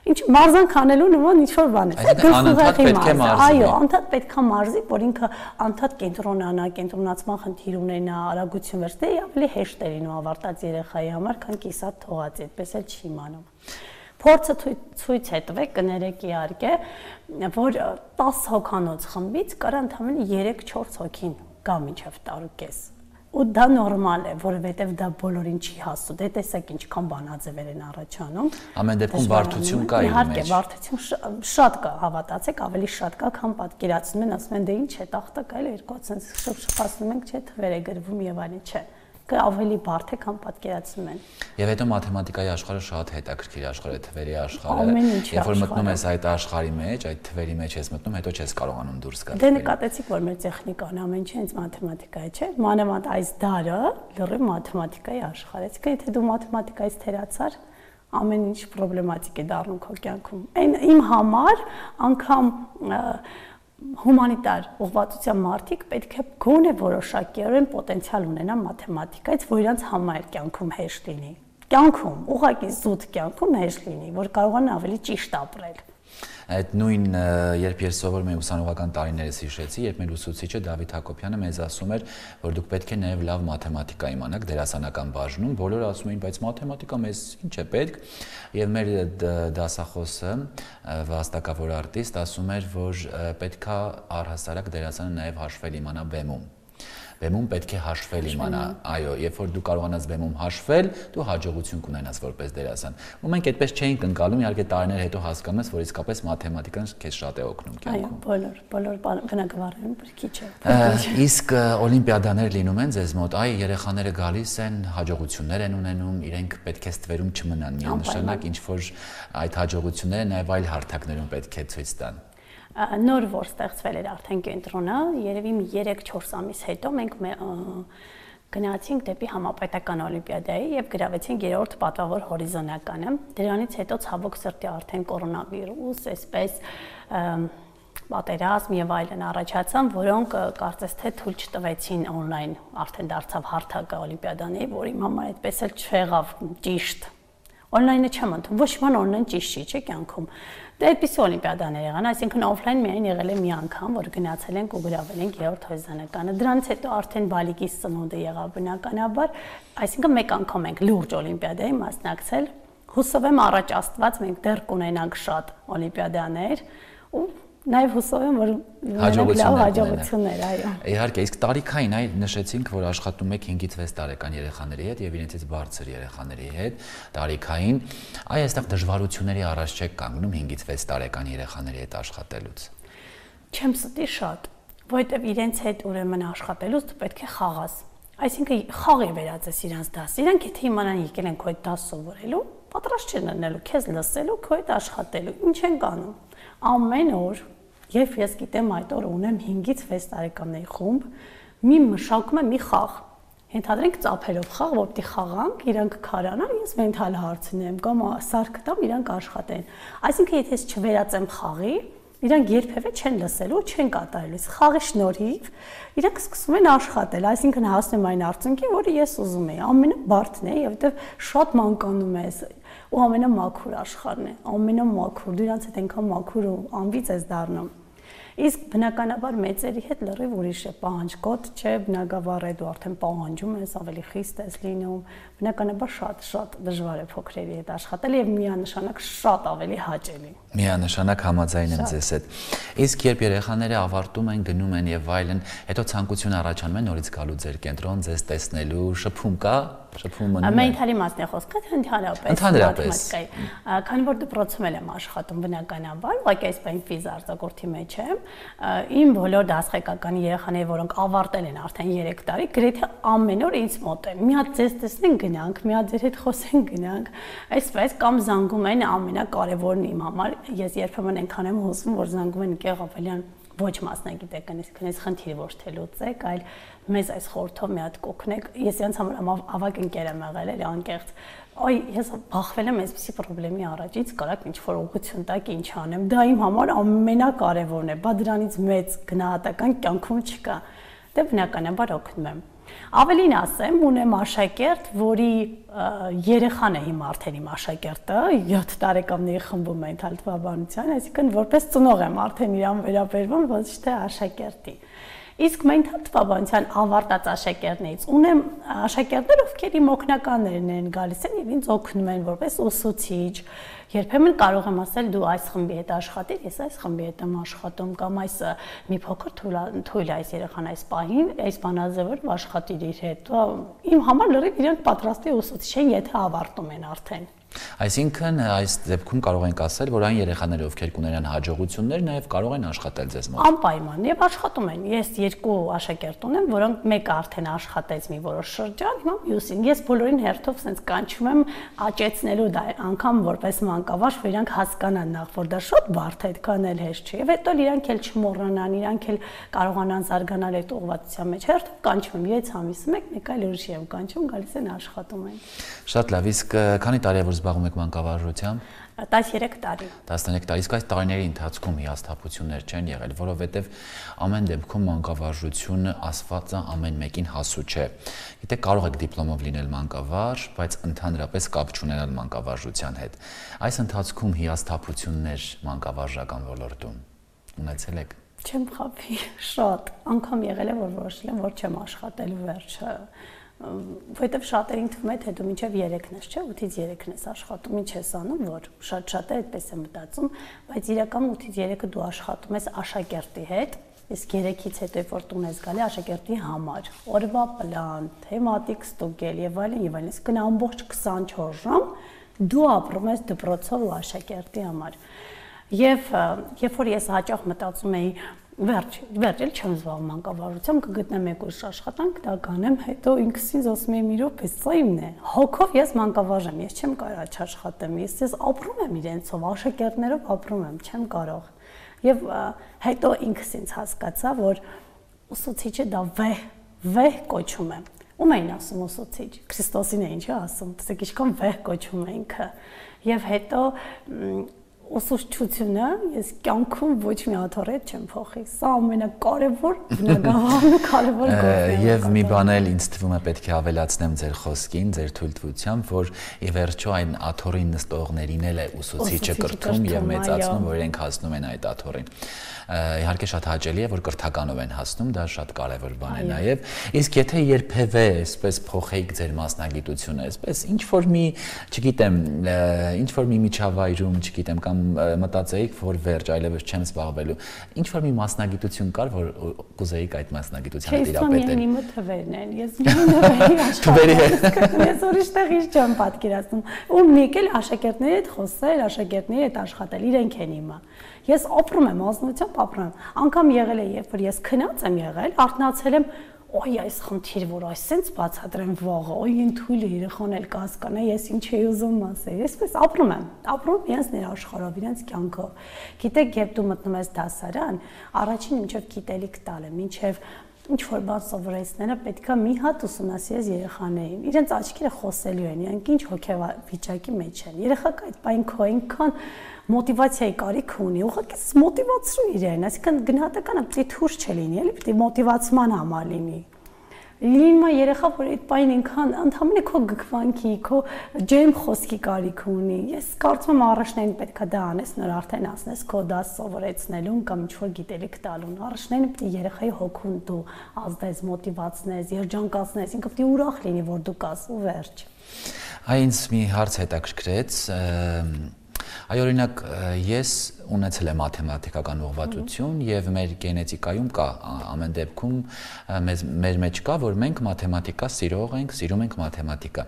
Ինչ մարզանք անելու նման ինչ-որ բան է։ Անընդհատ պետք է մարզի։ Այո, անընդհատ պետք է մարզի, որ ինքը անընդհատ կենտրոնանա, կենտրոնացման խնդիր ունենա, արագություն վերցնի, ավելի հեշտ է լինում ավարտած երեխայի համար, քան կիսատ թողածի, այդպես էլ չի իմանում։ Փորձը ցույց է տվել, կներեք իհարկե, որ 10 հոգանոց խմբից կար ընդամենը 3-4 հոգին գա մինչև տարուկես։ Ու դա նորմալ է, որովհետև դա բոլորին չի հասու։ Դե տեսեք ինչքան բանաձևեր են առաջանում։ Ամեն դեպքում բարդություն կա իր մեջ։ Իհարկե, բարդություն շատ կա, հավատացեք, ավելի շատ կա, քան պատկերացնում են, ասում են դե ինչ է, տախտակ այլ 2 շփշփացնում ենք, չէ, թվեր է գրվում եւ այլն, չէ։ Ավելի բարդ է, քան պատկերացնում են։ Եվ հետո մաթեմատիկայի աշխարհը շատ հետաքրքիր աշխարհ է, թվերի աշխարհը։ Երբ որ մտնում ես այդ աշխարհի մեջ, այդ թվերի մեջ ես մտնում, հետո չես կարողանում դուրս գալ։ Դե նկատեցիք, որ մեր տեխնիկան ամեն ինչ հենց մաթեմատիկա է, չէ՞։ Մանավանդ այս դարը լրիվ մաթեմատիկայի աշխարհ է։ Իսկ եթե դու մաթեմատիկայից թերացար, ամեն ինչ պրոբլեմատիկ է դառնում քո կյանքում։ Այն իմ համար անգամ հումանիտար ուղղվածության մարդիկ պետք է գոնե որոշակիորեն պոտենցիալ ունենան մաթեմատիկայից, որ իրենց համար կյանքում հեշտ լինի։ Կյանքում, ուղղակի զուտ կյանքում հեշտ լինի, որ կարողանան ավելի ճիշտ ապրել։ Այդ նույն երբ ես սովորում եմ ուսանողական տարիներս հիշեցի, երբ մեր ուսուցիչը Դավիթ Հակոբյանը մեզ ասում էր, որ դուք պետք է նաև լավ մաթեմատիկա իմանաք դերասանական բաժնում, բոլորը ասում էին, բայց մաթեմատիկա մեզ ինչ է պետք, եւ մեր դասախոսը վաստակավոր արտիստ ասում էր, որ պետքա առհասարակ դերասանը նաև հաշվել իմանա բեմում։ Բեմում պետք է հաշվել իմանա, այո, երբ որ դու կարողանաս բեմում հաշվել, դու հաջողություն կունենաս որպես դերասան։ Ու մենք այդպես չէինք ընկալում, իհարկե տարիներ հետո հասկանում ես, որ իսկապես մաթեմատիկան քեզ շատ է օգնում կյանքում։ Այո, բոլոր բնակավարներում քիչ է։ Իսկ օլիմպիադաներ լինում են ձեզ մոտ, այ երեխաները գալիս են, հաջողություններ են ունենում, իրենք պետք է ստվերում չմնան միանշանակ, ինչ որ այդ հաջողությունները նաև այլ հարթակներում պետք է ցույց տան։ Նոր որ ստեղծվել էր արդեն կենտրոնը, երևի 3-4 ամիս հետո մենք գնացինք դեպի համապետական օլիմպիադայի եւ գրավեցինք 3-րդ պատվավոր հորիզոնականը։ Դրանից հետո ցավոք սրտի արդեն կորոնավիրուս, այսպես պատերազմ եւ այլն առաջացան, որոնք կարծես թե թույլ չտվեցին on-line արդեն դարձավ հարթակը օլիմպիադանի, որ իմ համար այդպես էլ չեղավ ճիշտ։ On-line-ը չեմ ընդունում, ոչ ման on-line ճիշտ չի, չէ՞ կյանքում։ Դե այդպիսի օլիմպիադաներ եղան, այսինքն օֆլայն միայն եղել է մի անգամ, որ գնացել ենք ու գրավել ենք 3-րդ հորիզոնականը։ Դրանից հետո արդեն բալիկիս ծնունդը եղավ բնականաբար, այսինքն մեկ անգամ ենք լուրջ օլիմպիադայի մասնակցել։ Հուսով եմ առաջ Աստված մենք դեռ կունենանք շատ օլիմպիադաներ ու նաև հուսով եմ, որ հաջողություններ, այո։ Իհարկե, իսկ տարիքային այ նշեցինք, որ աշխատում եք 5-ից 6 տարեկան երեխաների հետ եւ իրենցից բարձր երեխաների հետ, տարիքային, այ այստեղ դժվարությունների առաջ չեք կանգնում 5-ից 6 տարեկան երեխաների հետ աշխատելուց։ Չեմ ստի շատ, որովհետեւ իրենց հետ ուրեմն աշխատելուց դու պետք է խաղաս։ Այսինքն խաղի վերածես իրանց դաս։ Իրանք եթե իմանան եկել են քո հետ դաս սովորելու, պատրաստ չեն լինելու քեզ լսելու, քո հետ աշխատելու։ Ինչ են կանում։ Ամեն օր Երբ ես գիտեմ այդ օրը ունեմ 5-ից 6 տարեկանների խումբ, մի մշակում եմ մի խաղ։ Ենթադրենք ծափերով խաղ, որ պիտի խաղանք, իրանք քարանան, ես մենթալ հարցնեմ կամ սարք տամ, իրանք աշխատեն։ Այսինքն եթե ես չվերածեմ խաղի, իրանք երբևէ չեն լսելու, չեն կատարելու։ Խաղի շնորհիվ իրանք սկսում են աշխատել, այսինքն հասնում այն արդյունքին, որը ես ուզում եի։ Ամենաբարդն է, որովհետև շատ մանկանում ես ու ամենամաքուր աշխարհն է, ամենամաքուր, դու իրանց հետ այնքան մաքուր ու անվիճ ես դառնում։ Իսկ բնականաբար մեծերի հետ լրիվ ուրիշ է պահանջկոտ, չէ, բնակավար է դու արդեն պահանջում ես, ավելի խիստ ես լինում, բնականաբար շատ դժվար է փոքրերի հետ աշխատել եւ միանշանակ շատ ավելի հաճելի։ Միանշանակ համաձայն եմ ձեզ հետ։ Իսկ երբ երեխաները ավարտում են, գնում են եւ այլն, հետո ցանկություն առաջանում է նորից գալու ձեր կենտրոն, ձեզ տեսնելու, շփում կա Շփումը մնում է։ Մենթալի մասն է խոսքը, թե ընդհանրապես մաթեմատիկայի։ Քանի որ դպրոցում եմ աշխատում բնականաբար, ուղղակի այս բան ֆիզ արձակուրդի մեջ եմ, իմ բոլոր դասղեկականի երեխաները, որոնք ավարտել են արդեն 3 տարի, գրեթե ամեն օր ինձ մոտ են։ Մի հատ ձեզ տեսնեն գնանք, մի հատ ձեր հետ խոսեն գնանք, այսպես կամ զանգում են ամենակարևորն իմ համար, ես երբեմն այնքան եմ հուզվում, որ զանգում են Գեղ Ավելյան ոչ մասնագիտեք, քնես խնդիրը ոչ թե լուծեք, այլ մեզ այս խորհրդով մի հատ կօգնեք։ Ես իրենց համար ավագ ընկեր եմ եղել, էլի անկեղծ։ Այ ես բախվել եմ այսպիսի խնդրի առաջից, կարաք ինչ-որ ուղղություն տակ ինչ անեմ։ Դա իմ համար ամենակարևորն է, բա դրանից մեծ գնահատական կյանքում չկա։ Դե բնականաբար օգնում եմ։ Ավելին ասեմ, ունեմ աշակերտ, որի երեխան է հիմա արդեն իմ աշակերտը, 7 տարեկանների խմբում է ընթալ թվաբանության, այսինքն որպես ծնող եմ արդեն իրան վերաբերվում, ոչ թե աշակերտի։ Իսկ մենթալ թվաբանության ավարտած աշակերտներից ունեմ աշակերտներ, ովքեր իմ օգնականներն են գալիս են եւ ինձ օգնում են որպես ուսուցիչ։ Երբեմն կարող եմ ասել դու այս խմբի հետ աշխատիր, ես այս խմբի հետ եմ աշխատում կամ այս մի փոքր թույլ այս երեխան այս պահին, այս բանաձևով աշխատիր իր հետ։ Իմ համար լրիվ իրենք պատրաստի ուսուցիչ են, եթե ավարտում են արդեն։ Այսինքն այս դեպքում կարող ենք ասել, որ այն երեխաները, ովքեր կունենան հաջողություններ, նաև կարող են աշխատել ձեզ մոտ։ Անպայման, եւ աշխատում են։ Ես 2 աշակերտ ունեմ, որոնք մեկը արդեն աշխատեց մի որոշ շրջան, հիմա մյուսին։ Ես բոլորին հերթով sense կանչում եմ աճեցնելու դա անգամ որպես մանկավարժ, որ իրանք հասկանան նախ, որ դա շատ բարդ է, այդքան էլ հեշտ չի։ Եվ հետո իրանք էլ չմոռանան, իրանք էլ կարողանան զարգանալ այդ ուղղվածության մեջ։ Հերթով կանչում եմ 6 ամիսը մեկ այլ ուրիշ եմ կանչում, գալիս են աշխատում են։ Շատ լավ, իսկ քանի տարի է որ զբաղվում եք մանկավարժությամբ։ 13 տարի։ 13 տարի, իսկ այս տարիների ընթացքում հիասթափություններ չեն եղել, որովհետև ամեն դեպքում մանկավարժությունը ասվածը ամեն մեկին հասու չէ։ Գիտեք, կարող եք դիպլոմով լինել մանկավարժ, բայց ընդհանրապես կապ չունենալ մանկավարժության հետ։ Այս ընթացքում հիասթափություններ մանկավարժական ոլորտում ունեցել եք։ Չեմ խաբի, շատ։ Անգամ եղել է, որ որոշել եմ, որ չեմ աշխատելու վերջը։ Որտեվ շատերին թվում է, թե դու մինչև 3-ն ես, չէ՞, 8-ից 3-ն ես աշխատում, ինչ ես անում, որ շատ-շատ է այդպես է մտածում, բայց իրականում 8-ից 3-ը դու աշխատում ես աշակերտի հետ, իսկ 3-ից հետո երբ որ տուն ես գալի աշակերտի համար, օրվա պլան, թեմատիկ ստուգել եւ այլն եւ այլն, իսկ ամբողջ 24 ժամ դու ապրում ես դպրոցով ու աշակերտի համար։ Եվ երբ որ ես հաճախ մտածում էի Վերջ էլ չեմ զբաղվում մանկավարժությամբ, կգտնեմ մեկ ուրիշ աշխատանք, դա կանեմ, հետո ինքս ինձ ասում եմ իրոք, սա իմն է։ Հոգով ես մանկավարժ եմ, ես չեմ կարող չաշխատեմ, ես ապրում եմ իրենցով, աշակերտներով ապրում եմ, չեմ կարող։ Եվ հետո ինքս ինձ հասկացա, որ ուսուցիչը դա վեհ կոչում է։ Ում էին ասում ուսուցիչ։ Քրիստոսին էին չէ ասում, տեսեք ինչքան վեհ կոչում է ինքը։ Եվ հետո ուսուցչությունը ես կյանքում ոչ մի աթոռետ չեմ փոխի։ Սա ամենակարևոր բնագավառն ու կարևոր գործն է։ Եվ մի բան էլ ինձ թվում է պետք է ավելացնեմ ձեր խոսքին, ձեր թույլտվությամբ, որ ի վերջո այն աթոռին նստողներին էլ է ուսուցիչը կրթում եւ մեծացնում, որ իրենք հասնում են այդ աթոռին։ Իհարկե շատ հաճելի է, որ կրթականով են հասնում, դա շատ կարևոր բան է նաև։ Իսկ եթե երբևէ այսպես փոխեիք ձեր մասնագիտությունը, այսպես ինչ որ մի, չգիտեմ, ինչ որ մի միջավայրում, չգիտեմ, կամ մտածեիք, որ վերջ այլևս չեմ զբաղվելու, ինչ որ մի մասնագիտություն կար, որ կուզեիք այդ մասնագիտությանը տիրապետել։ Իմ թվերն են, ես թվերի ես ուրիշ տեղից չեմ պատկերացնում։ Ու մեկ էլ աշակերտների հետ խոսել, աշակերտների հետ աշխատել, իրենք են իմը։ Ես ապրում եմ ազնությամբ, ապրում եմ։ Անկամ եղել է, երբ որ ես քնած եմ եղել, արթնացել եմ, օй այս խնդիր, որ այսպես բացատրեմ վաղը, օй ինձ թույլ է երեխան էլ կհասկանա, ես ինչ էի ուզում ասել։ Այսպես ապրում եմ իրենց ներաշխարհով, իրենց կյանքով։ Գիտեք, երբ դու մտնում ես դասարան, առաջին ինչով գիտելիք տալը, ինչև ինչ որ բան սովորեցնելը պետքա մի հատ ուսումնասիրես երեխաներին։ Իրենց աչքերը խոսելու են, իրանք ինչ հոգեվիճակի մեջ են։ Երեխաքը այդ պայն քո այնքան մոտիվացիայի կարիք ունի, ուղղակի մոտիվացրու իրեն, այսինքն գնահատականը պետք է թույլ չլինի, էլի պետք է մոտիվացման համար լինի։ Լինում է երեխա, որ այդ պայն այնքան ընդհանրապես քո գքվանքի, քո ջերմ խոսքի կարիք ունի։ Ես կարծում եմ առաջնային պետքա դա անես, նոր արդեն ասնես քո դաս սովորեցնելուն կամ ինչ որ գիտելիք տալուն։ Առաջնային պետք է երեխայի հոգուն դու ազդես, մոտիվացնես, երջանկացնես, ինքը պետք է ուրախ լինի, որ դու կաս ու վերջ։ Այնց մի հարց հետաքրքրեց, Այ օրինակ ես ունեցել եմ մաթեմատիկական ուղղվածություն եւ մեր գենետիկայում կա ամեն դեպքում մեր մեջ կա, որ մենք մաթեմատիկա սիրող ենք, սիրում ենք մաթեմատիկա։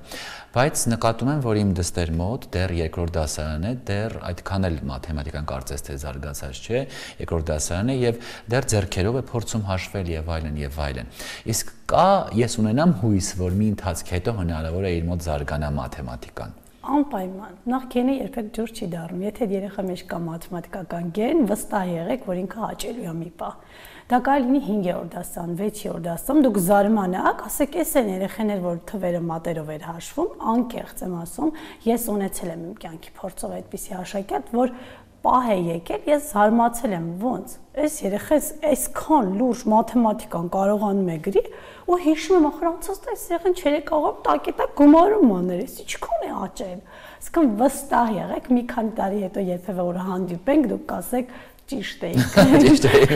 Բայց նկատում եմ, որ իմ դստեր մոտ դեռ երկրորդ դասարան է, դեռ այդքան էլ մաթեմատիկան կարծես թե զարգացած չէ, երկրորդ դասարան է եւ դեռ ձեռքերով է փորձում հաշվել եւ այլն եւ այլն։ Իսկ կա ես ունենամ հույս, որ մի ընթացք հետո հնարավոր է իր մոտ զարգանա մաթեմատիկան։ Անպայման, նախ գենը երբեք ջուր չի դառնում, եթե երեխա մեջ կա մաթեմատիկական գեն, վստահ եղեք, որ ինքը հաճելու է մի պահ։ Դա կարելի լինի 5-րդ դասան, 6-րդ դասում, դուք զարմանաք, ասեք, էս են երեխաներ, որ թվերը մատերով էր հաշվում, անկեղծ եմ ասում, ես ունեցել եմ իմ կյանքի փորձով այդպիսի աշակերտ, որ պահ է եկել, ես զարմացել եմ, ոնց, այս երեխաս այսքան լուրջ մաթեմատիկան կարողանում է գրի, ու հիշում եմ ախրանցած այս երեխան չէր կարող տակետակ գումարում անել, էս ինչքան է աճել։ Իսկն վստահ եղեք, մի քանի տարի հետո երբևէ որ հանդիպենք, դուք կասեք ճիշտ եք։ Ճիշտ եք։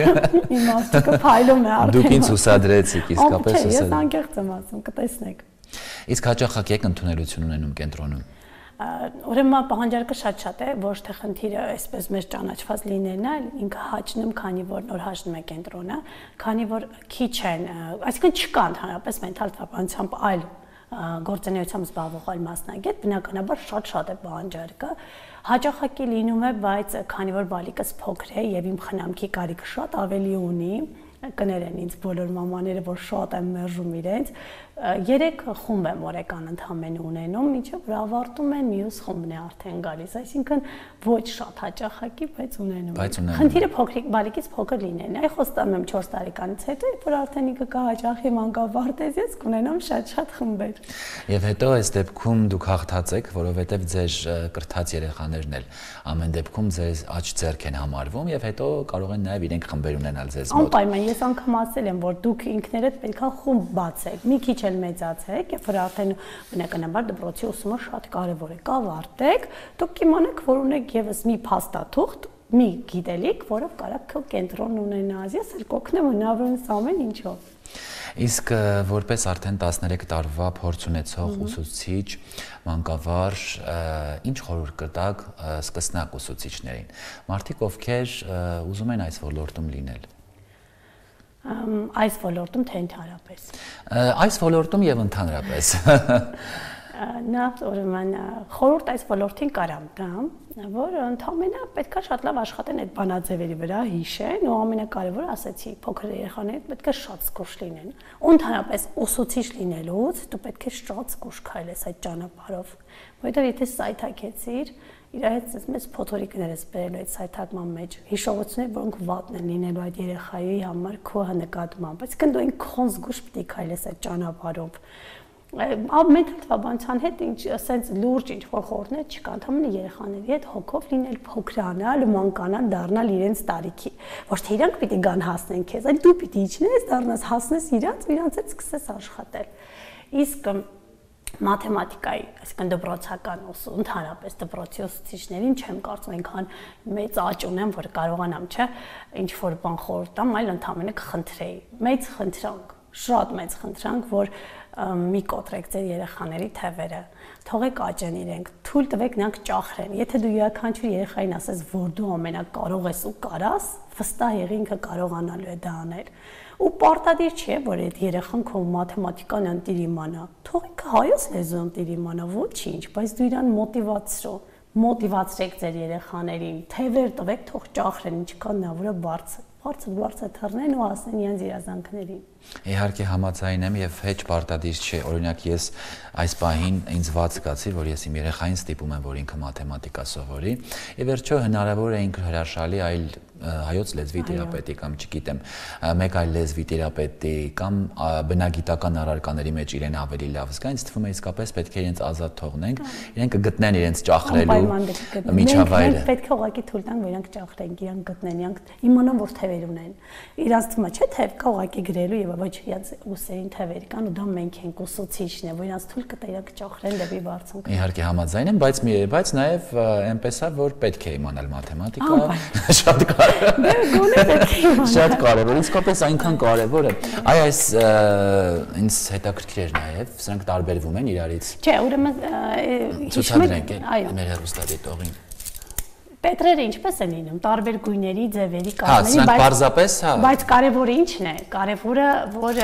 Իմաստը փայլում է արդեն։ Դուք ինձ ուսադրեցիք, իսկապես ուսադրեցիք։ Ես անկեղծ եմ ասում, կտեսնեք։ Իսկ հաճախակ եք ընդունելություն ունենում կենտրոնում։ Ուրեմն պահանջարկը շատ է, ոչ թե խնդիրը այսպես մեզ ճանաչված լինելն է, ինքը հաճնում, քանի որ նոր հաճնում է կենտրոնը, քանի որ քիչ են, այսինքն չկա ընդհանրապես մենթալ թվականությամբ այլ գործունեությամբ զբաղվող այլ մասնագետ, բնականաբար շատ է պահանջարկը, հաճախակի լինում է, բայց քանի որ բալիկս փոքր է եւ իմ խնամքի կարիքը շատ ավելի ունի, կներեն ինձ բոլոր մամաները, որ շատ եմ մերժում իրենց, 3 խումբ եմ օրական ընդհանրապես ունենում, ինչը որ ավարտում են մյուս խումբն է արդեն գալիս, այսինքն ոչ շատ հաճախակի, բայց ունենում։ Խնդիրը փոքրիկ բալիկից փոքր լինելն է, այ խոստանում եմ 4 տարեկանից հետո, երբ որ արդեն ինքը կհաճախի մանկավարտ ես կունենամ շատ խմբեր։ Եվ հետո այս դեպքում դուք հաղթած եք, որովհետև ձեր կրթած երեխաներն էլ ամեն դեպքում ձեզ աջ ձեռք են համարվում եւ հետո կարող են նաեւ իրենք խմբեր ունենալ ձեզ մոտ։ Անպայման ես անգամ ասել եմ, որ դուք ինքներդ պետքա խումբ բացեք, մի քիչ էլ մեծացեք, երբ որ արդեն բնականաբար դպրոցի ուսումը շատ կարևոր է, կավարտեք, դուք կիմանաք, որ ունեք եւս մի փաստաթուղթ, մի գիտելիք, որով կարաք քո կենտրոն ունենալ, ես էլ կօգնեմ հնարավորինս ամեն ինչով։ Իսկ որպես արդեն 13 տարվա փորձ ունեցող ուսուցիչ, մանկավար, ինչ խորհուրդ կտաք սկսնակ ուսուցիչներին, մարդիկ ովքեր ուզում են այս ոլորտում լինել։ Այս ոլորտում թե ընդհանրապես։ Այս ոլորտում եւ ընդհանրապես։ Նա ուրեմն խորհուրդ այս ոլորտին կարամ տամ, որ ընդհանրապես պետքա շատ լավ աշխատեն այդ բանաձևերի վրա, հիշեն ու ամենակարևորը ասեցի, փոքր երեխաները պետքա շատ զգուշ լինեն։ Ու ընդհանրապես ուսուցիչ լինելուց դու պետք է շատ զգուշ քայլես այդ ճանապարհով, որովհետեւ եթե սայթաքեցիր, իր հետ մեծ փոթորիկներ ես բերելու այդ սայթակման մեջ, հիշողություններ, որոնք վատն են լինելու այդ երեխայի համար քո նկատմամբ, բայց դու այնքան զգուշ պետք է քայլես այդ ճանապարհով։ Մենթալ թվաբանության հետ ինչ ասենց լուրջ ինչ-որ խորհուրդներ չկա, ընդհանրապես երեխաների հետ հոգով լինել, փոքրանալ, մանկանալ, դառնալ իրենց տարիքի։ Ոչ թե իրանք պիտի գան հասնեն քեզ, այլ դու պիտի իջնես, դառնաս, հասնես իրանց հետ սկսես աշխատել։ Իսկ մաթեմատիկայի, այսինքն դպրոցական ուսում, ընդհանրապես դպրոցի ուսուցիչներին չեմ կարծում այնքան մեծ աճ ունեմ, որ կարողանամ, չէ, ինչ որ բան խորհուրդ տամ, այլ ընդհանրապես կխնդրեի։ Մեծ խնդրանք, շատ մեծ խնդրանք, որ մի կոտրեք ձեր երեխաների թևերը, թողեք աճեն իրենք, թույլ տվեք նրանք ճախրեն։ Եթե դու յուրաքանչյուր երեխային ասես, որ դու ամենակարող ես ու կարաս, վստահ եղի ինքը կարողանալու է դա անել։ Ու պարտադիր չէ, որ այդ երեխան քո մաթեմատիկան ընտիր իմանա։ Թող ինքը հայոց լեզու ընտիր իմանա, ոչինչ, բայց դու իրան մոտիվացրեք ձեր երեխաներին, թևեր տվեք, թող ճախրեն, ինչքան նա որը բարձր թռնեն ու հասնեն իրենց երազանքներին։ Իհարկե համաձայն եմ եւ հեչ պարտադիր չէ, օրինակ ես այս պահին ինձ ված զգացի, որ ես իմ երեխային ստիպում եմ, որ ինքը մաթեմատիկա սովորի, եւ վերջո հնարավոր է ինքը հրաշալի այլ հայոց լեզվի թերապետի կամ չգիտեմ, մեկ այլ լեզվի թերապետի կամ բնագիտական առարկաների մեջ իրեն ավելի լավ զգա, ինձ թվում է իսկապես պետք է իրենց ազատ թողնենք, իրենք կգտնեն իրենց ճախրելու միջավայրը։ Պետք է ուղղակի թույլ տանք, որ իրենք ճախրեն, իրենք գտնեն, իրենք իմանան, որ թևեր ունեն։ Իրանց թվում է, չէ՞, թև կա ուղղակի գրելու եւ ոչ իրենց ուսերին թևեր կան ու դա մենք ենք ուսուցիչն է, որ իրենց թույլ կտա իրենք ճախրեն դեպի բարձունք։ Իհարկե համաձայն եմ, բայց նաեւ այնպես է, որ պետք է իմանալ մաթեմատիկա, շատ Շատ կարևոր, իսկապես այնքան կարևոր է։ Այս ինձ հետաքրքիր էր նաև, սրանք տարբերվում են իրարից։ Չէ, ուրեմն ցուցադրենք մեր հեռուստադիտողին։ Պետրերը ինչպես են լինում, տարբեր գույների, ձևերի, կազմերի, բայց կարևորը ինչն է, կարևորը որ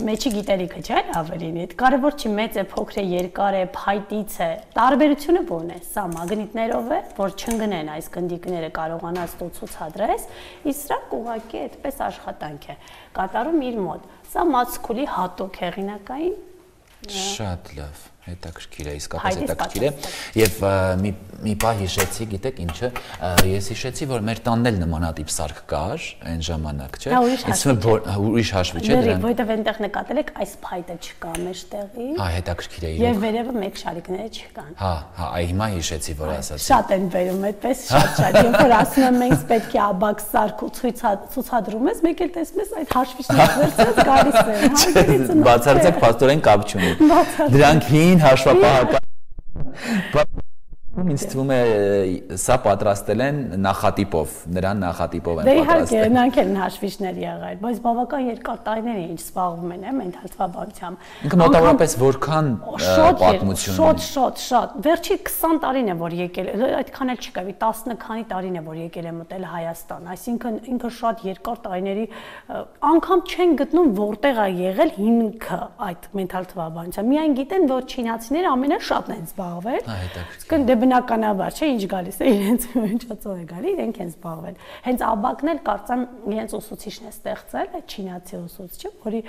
մեջի գիտելիքը չէ, ավելին է։ Կարևոր չի մեծ է, փոքր է, երկար է, փայտից է։ Տարբերությունը ո՞րն է։ Սա մագնիտներով է, որ չընկնեն այս գնդիկները կարողանաս դու ցուցադրես, իսկ սրանք ուղղակի այդպես աշխատանք է կատարում իր մոտ։ Սա մացքուլի հատուկ հեղինակային շատ լավ, հետաքրքիր է, իսկապես հետաքրքիր է եւ մի բան հիշեցի, գիտեք ինչը, ես հիշեցի, որ մեր տանն էլ նմանատիպ սարք կար այն ժամանակ, չէ՞։ Ուրիշ հաշվի չէ դրան։ Որտեւ այնտեղ նկատել եք այս փայտը չկա մեջտեղի։ Հա, հետաքրքիր է։ Եւ վերևը մեկ շարիկները չկան։ Հա, այ հիմա հիշեցի, որ ասացի։ Շատ են վերում այդպես շատ։ Երբ որ ասում եմ մենք պետք է աբակ սարք ու ցուցադրում ես, մեկ էլ տեսնում ես այդ հաշվիչները վերցրած գալիս են։ Բացարձակ փաստորեն կապ չունի։ Դրանք հին հաշվապահական ինձ թվում է սա պատրաստել են նախատիպով, նրան նախատիպով են պատրաստել։ Դե իհարկե, նրանք են հաշվիչներ եղել, բայց բավական երկար տարիներ են ինչ զբաղվում են, մենթալ թվաբանությամբ։ Ինքը մոտավորապես որքան պատմություն ունի։ Շատ։ Վերջի 20 տարին է որ եկել, այդքան էլ չկա, 10 քանի տարին է որ եկել է մտել Հայաստան, այսինքն ինքը շատ երկար տարիների անգամ չեն գտնում որտեղ է եղել հիմքը այդ մենթալ թվաբանությամբ։ Միայն գիտեն, որ չինացիները ամենաշատն են զբաղվել։ Հետաքրքիր։ Բնականաբար, չէ, ինչ գալիս է իրենց հնչածով է գալի, իրենք են զբաղվել։ Հենց աբակն էլ կարծեմ իրենց ուսուցիչն է ստեղծել, այդ չինացի ուսուցիչը, որի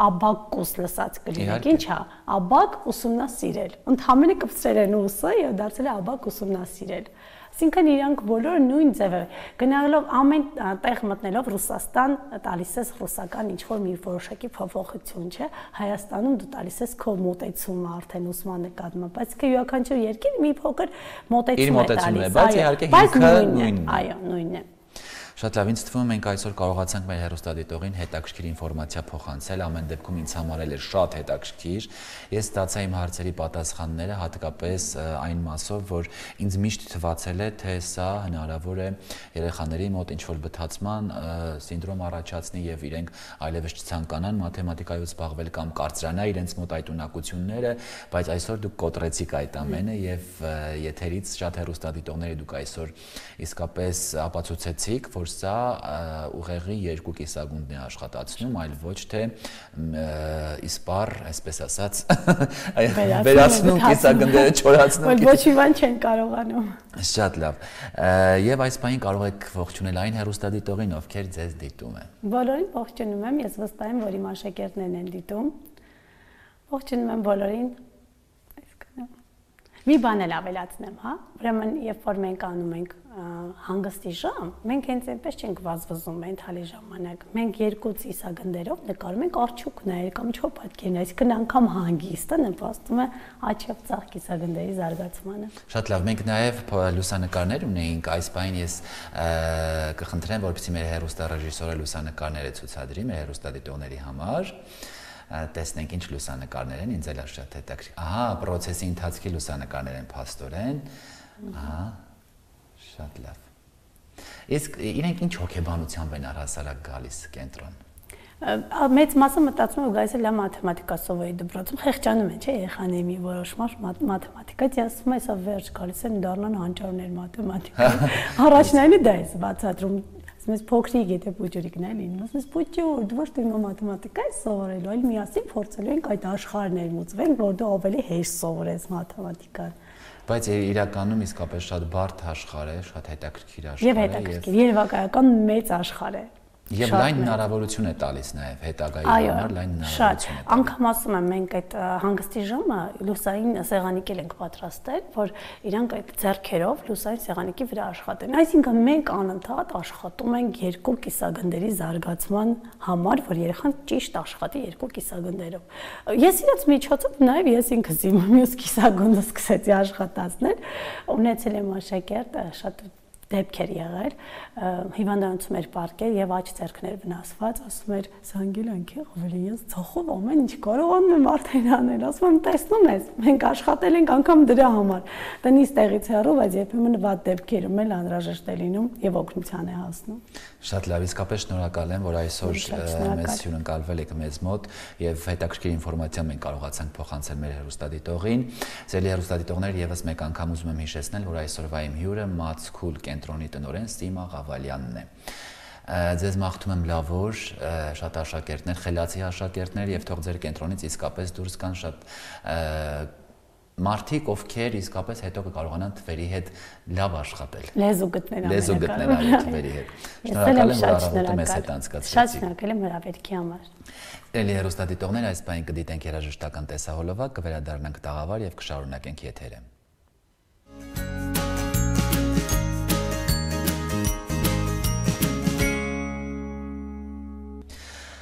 աբակուս լսած կլինեք, ինչ է, աբակ ուսումնասիրել։ Ընդհանրապես կպցրել են ուսը եւ դարձել է աբակ ուսումնասիրել։ Այսինքն իրանք բոլորը նույն ձևը գնալով ամեն տեղ մտնելով Ռուսաստան տալիս ես ռուսական ինչ-որ մի որոշակի փոփոխություն, չէ, Հայաստանում դու տալիս ես քո մոտեցումը արդեն ուսման նկատմամբ, բայց că յուրաքանչյուր երկիր մի փոքր մոտեցում է տալիս, բայց իհարկե հիմքը նույնն է։ Այո, նույնն է։ Շատ լավ, ինձ թվում է մենք այսօր կարողացանք մեր հեռուստադիտողին հետաքրքիր ինֆորմացիա փոխանցել, ամեն դեպքում ինձ համար էլ է շատ հետաքրքիր։ Ես ստացա իմ հարցերի պատասխանները, հատկապես այն մասով, որ ինձ միշտ թվացել է, թե սա հնարավոր է երեխաների մոտ ինչ-որ բթացման սինդրոմ առաջացնի եւ իրենք այլևս չցանկանան մաթեմատիկայով զբաղվել կամ կարծրանա իրենց մոտ այդ ունակությունները, բայց այսօր դուք կոտրեցիք այդ ամենը եւ եթերից շատ հեռուստադիտողների դուք այսօր իսկապես ապացուցեցիք, որ սա ուղեղի երկու կիսագունդն է աշխատացնում, այլ ոչ թե իսպար, այսպես ասած, վերացնում կիսագնդերը չորացնում։ Որ ոչ մի բան չեն կարողանում։ Շատ լավ։ Եվ այս բանին կարող եք ողջունել այն հեռուստադիտողին, ովքեր ձեզ դիտում են։ Բոլորին ողջունում եմ, ես վստահ եմ, որ իմ աշակերտներն են դիտում։ Ողջունում եմ բոլորին։ Մի բան էլ ավելացնեմ, հա։ Ուրեմն, երբ որ մենք անում ենք հանգստի ժամ, մենք հենց այնպես չենք վազվզում մենթալի ժամանակ։ Մենք երկու ծիսագնդերով նկարում ենք արջուկներ կամ չոփատքերներ, այսինքն անգամ հանգիստը նպաստում է աջ եւ ձախ կիսագնդերի զարգացմանը։ Շատ լավ, մենք նաեւ լուսանկարներ ունեինք, այս բանին ես կխնդրեմ, որպեսզի մեր հեռուստառեժիսորը լուսանկարները ցուցադրի մեր հեռուստադիտողների համար։ Տեսնենք ինչ լուսանկարներ են, ինձ էլ շատ հետաքրքիր։ Ահա, process-ի ընթացքի լուսանկարներ են փաստորեն։ Ահա, շատ լավ։ Իսկ իրենք ինչ հոգեբանությամբ են առհասարակ գալիս կենտրոն։ Մեծ մասը մտածում է գալիս է լավ մաթեմատիկա սովորի դպրոցում, խեղճանում են, չէ, երեխաների մի որոշ մաս մաթեմատիկայից, ասում է, սա վերջ գալիս են դառնան հանճարներ մաթեմատիկայի։ Առաջնայինը դա է բացատրում։ Mēs փոքրիկ եթե փոքրիկն է լինում, ասես փոքր, դու ոչ թե մաթեմատիկա ես սովորելու, այլ միասին փորձելու ենք այդ աշխարհներ մուծվենք, որ դու ավելի հեշտ սովորես մաթեմատիկան։ Բայց իրականում իսկապես շատ բարդ աշխարհ է, շատ հետաքրքիր աշխարհ է եւ հետաքրքիր, երևակայական մեծ աշխարհ է։ Եվ լայն հնարավորություն է տալիս նաև հետագայի համար լայն հնարավորություն է։ Անգամ ասում եմ մենք այդ հանգստի ժամը լուսային սեղանիկել ենք պատրաստել, որ իրանք այդ ձեռքերով լուսային սեղանիկի վրա աշխատեն։ Այսինքն մենք անընդհատ աշխատում ենք երկու կիսագնդերի զարգացման համար, որ երեխան ճիշտ աշխատի երկու կիսագնդերով։ Ես իրաց միջոցով նաև ես ինքս իմ մյուս կիսագունդը սկսեցի աշխատացնել, ունեցել եմ աշակերտ շատ դեպք էր եղել, հիվանդանոցում էր պարկել եւ աջ ձեռքներ վնասված, ասում էր զանգել անքի ավելի ես ցախով ամեն ինչ կարողանում եմ արդեն անել, ասում եմ տեսնում ես, մենք աշխատել ենք անգամ դրա համար, տնից տեղից հեռու, բայց երբեմն վատ դեպքերում էլ անհրաժեշտ է լինում եւ օգնության է հասնում։ Շատ լավ, իսկապես շնորհակալ եմ, որ այսօր մեզ հյուրընկալվել եք մեզ մոտ եւ հետաքրքիր ինֆորմացիա մենք կարողացանք փոխանցել մեր հեռուստադիտողին։ Սիրելի հեռուստադիտողներ, եւս մեկ անգամ ուզում եմ հիշեցնել, որ այսօրվա իմ հյուրը Մացքուլ կենտրոնի տնօրեն Սիմա Ղավալյանն է։ Ձեզ մաղթում եմ լավ օր, շատ աշակերտներ, խելացի աշակերտներ եւ թող ձեր կենտրոնից իսկապես դուրս գան շատ մարդիկ, ովքեր իսկապես հետո կկարողանան թվերի հետ լավ աշխատել։ Լեզու գտնել այլ թվերի հետ։ Շնորհակալ եմ, որ առավոտը մեզ հետ անցկացրեցիք։ Շատ շնորհակալ եմ հրավերքի համար։ Էլի հեռուստադիտողներ, այս պահին կդիտենք երաժշտական տեսահոլովակ, կվերադառնանք տաղավար եւ կշարունակենք եթերը։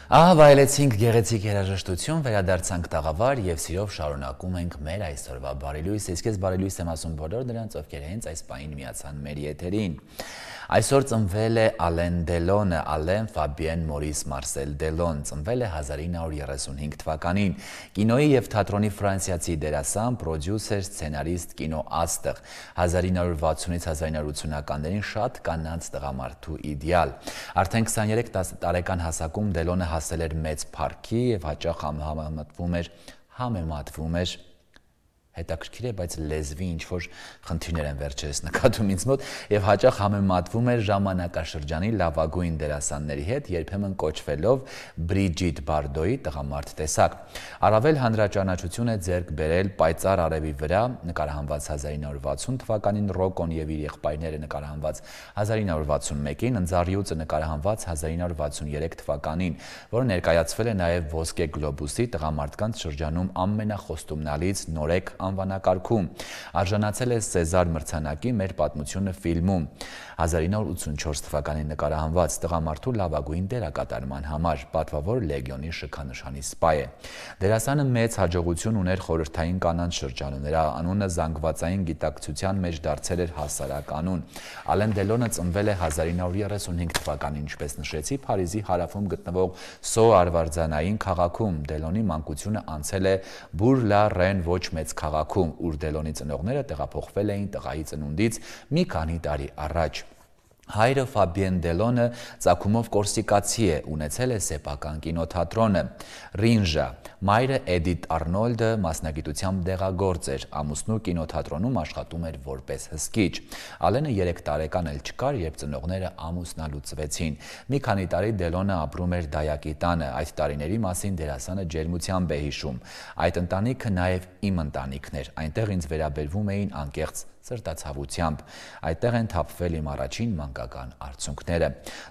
Ահա վայելեցինք գեղեցիկ երաժշտություն, վերադարձանք տաղավար եւ սիրով շարունակում ենք մեր այսօրվա բարելույսը։ Իսկ ես բարելույս եմ ասում բոլոր նրանց, ովքեր հենց այս պահին միացան մեր եթերին։ Այսօր ծնվել է Ալեն Դելոնը, Ալեն Ֆաբիեն Մորիս Մարսել Դելոն, ծնվել է 1935 թվականին, կինոյի եւ թատրոնի ֆրանսիացի դերասան, պրոդյուսեր, սցենարիստ, կինոաստղ, 1960-ից 1980-ականներին շատ կանանց տղամարդու իդեալ։ Արդեն 23 տարեկան հասակում Դելոնը հասել էր մեծ փառքի եւ հաճախ համեմատվում էր հետաքրքիր է, բայց լեզվի ինչ-որ խնդիրներ են վերջերս նկատում ինձ մոտ եւ հաճախ համեմատվում էր ժամանակաշրջանի լավագույն դերասանների հետ, երբեմն կոչվելով Բրիջիտ Բարդոյի տղամարդ տեսակ։ Առավել հանրաճանաչություն է ձեռք բերել Պայծառ արևի վրա նկարահանված 1960 թվականին, Ռոկոն եւ իր եղբայրները նկարահանված 1961-ին, Ընձառյուծը նկարահանված 1963 թվականին, որը ներկայացվել է նաեւ Ոսկե գլոբուսի տղամարդկանց շրջանում ամենախոստումնալից նորեկ անվանակարգում, արժանացել է Սեզար մրցանակի Մեր պատմությունը ֆիլմում, 1984 թվականին նկարահանված տղամարդու լավագույն դերակատարման համար, պատվավոր Լեգիոնի շքանշանի սպա է։ Դերասանը մեծ հաջողություն ուներ խորհրդային կանանց շրջանում, նրա անունը զանգվածային գիտակցության մեջ դարձել էր հասարակ անուն։ Ալեն Դելոնը ծնվել է 1935 թվականին, ինչպես նշեցի, Փարիզի հարավում գտնվող Սո արվարձանային քաղաքում։ Դելոնի մանկությունը անցել է Բուր-լա-Ռեն ոչ մեծ քաղաքում, ուր Դելոնի ծնողները տեղափոխվել էին տղայի ծնունդից մի քանի տարի առաջ։ Հայրը Ֆաբիեն Դելոնը ծագումով կորսիկացի է, ունեցել է սեփական կինոթատրոնը Ռինժա, մայրը Էդիթ Արնոլդը մասնագիտությամբ դեղագործ էր, ամուսնու կինոթատրոնում աշխատում էր որպես հսկիչ։ Ալենը 3 տարեկան էլ չկար, երբ ծնողները ամուսնալուծվեցին։ Մի քանի տարի Դելոնը ապրում էր Դայակի տանը, այդ տարիների մասին դերասանը ջերմությամբ է հիշում։ Այդ ընտանիքը նաև իմ ընտանիքն էր, այնտեղ ինձ վերաբերվում էին անկեղծ սրտացավությամբ։ Այդտեղ են թափվել իմ առաջին մանկական արցունքները։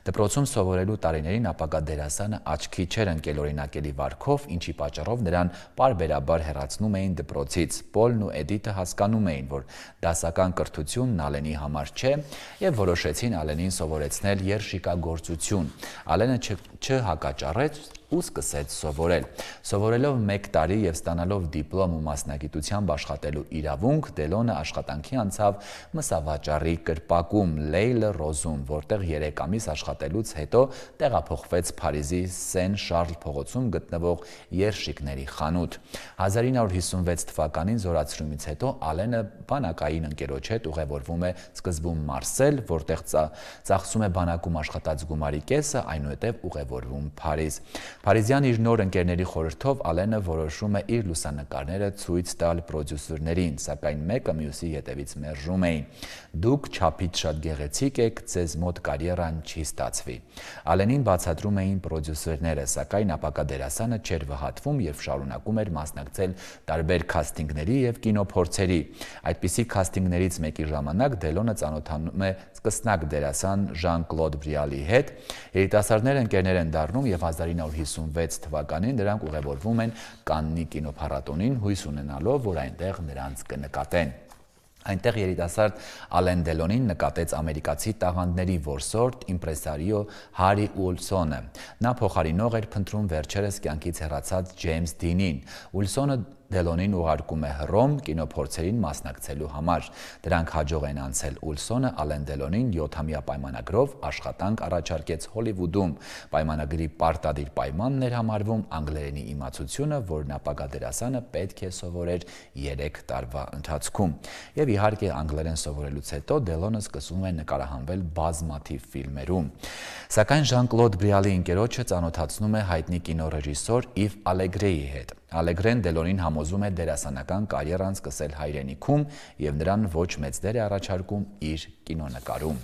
Դպրոցում սովորելու տարիներին ապագա դերասանը աչքի չէր ընկել օրինակելի վարքով, ինչի պատճառով նրան պարբերաբար հեռացնում էին դպրոցից։ Պոլն ու Էդիթը հասկանում էին, որ դասական կրթությունն Ալենի համար չէ եւ որոշեցին Ալենին սովորեցնել երշիկագործություն։ Ալենը չհակաճառեց ու սկսեց սովորել։ Սովորելով 1 տարի եւ ստանալով դիպլոմ ու մասնագիտությամբ աշխատելու իրավունք, Դելոնը աշխատանքի անցավ մսավաճառի կրպակում Լեյլ Ռոզում, որտեղ 3 ամիս աշխատելուց հետո տեղափոխվեց Փարիզի Սեն Շարլ փողոցում գտնվող երշիկների խանութ։ 1956 թվականին զորացրումից հետո Ալենը բանակային ընկերոջ հետ ուղևորվում է սկզբում Մարսել, որտեղ ծախսում է բանակում աշխատած գումարի կեսը, այնուհետև ուղևորվում Փարիզ։ Փարիզյան իր նոր ընկերների խորհրդով Ալենը որոշում է իր լուսանկարները ցույց տալ պրոդյուսերներին, սակայն մեկը մյուսի ետևից մերժում էին։ Դուք չափից շատ գեղեցիկ եք, ձեզ մոտ կարիերան չի ստացվի։ Ալենին բացատրում էին պրոդյուսերները, սակայն ապագա դերասանը չէր վհատվում եւ շարունակում էր մասնակցել տարբեր քաստինգների եւ կինոփորձերի։ Այդպիսի քաստինգներից մեկի ժամանակ Դելոնը ծանոթանում է սկսնակ դերասան Ժան-Կլոդ Բրիալի հետ։ Երիտասարդներ ընկերներ են դառնում եւ 1956 թվականին նրանք ուղևորվում են Կաննի կինոփառատոնին, հույս ունենալով, որ այնտեղ նրանց կնկատեն։ Այնտեղ երիտասարդ Ալեն Դելոնին նկատեց ամերիկացի տաղանդների որսորդ իմպրեսարիո Հարի Ուիլսոնը։ Նա փոխարինող էր փնտրում վերջերս կյանքից հեռացած Ջեյմս Դինին։ Ուիլսոնը Դելոնին ուղարկում է Հռոմ կինոփորձերին մասնակցելու համար։ Դրանք հաջող են անցել Ուլսոնը Ալեն Դելոնին 7-ամյա պայմանագրով աշխատանք առաջարկեց Հոլիվուդում։ Պայմանագրի պարտադիր պայմանն էր համարվում անգլերենի իմացությունը, որն ապագա դերասանը պետք է սովորեր 3 տարվա ընթացքում։ Եվ իհարկե անգլերեն սովորելուց հետո Դելոնը սկսում է նկարահանվել բազմաթիվ ֆիլմերում։ Սակայն Ժան-Կլոդ Բրիալի ընկերոջը ծանոթացնում է հայտնի կինոռեժիսոր Իվ Ալեգրեի հետ։ Ալեգրեն Դելոնին համոզում է դերասանական կարիերան սկսել հայրենիքում եւ նրան ոչ մեծ դեր է առաջարկում իր կինոնկարում։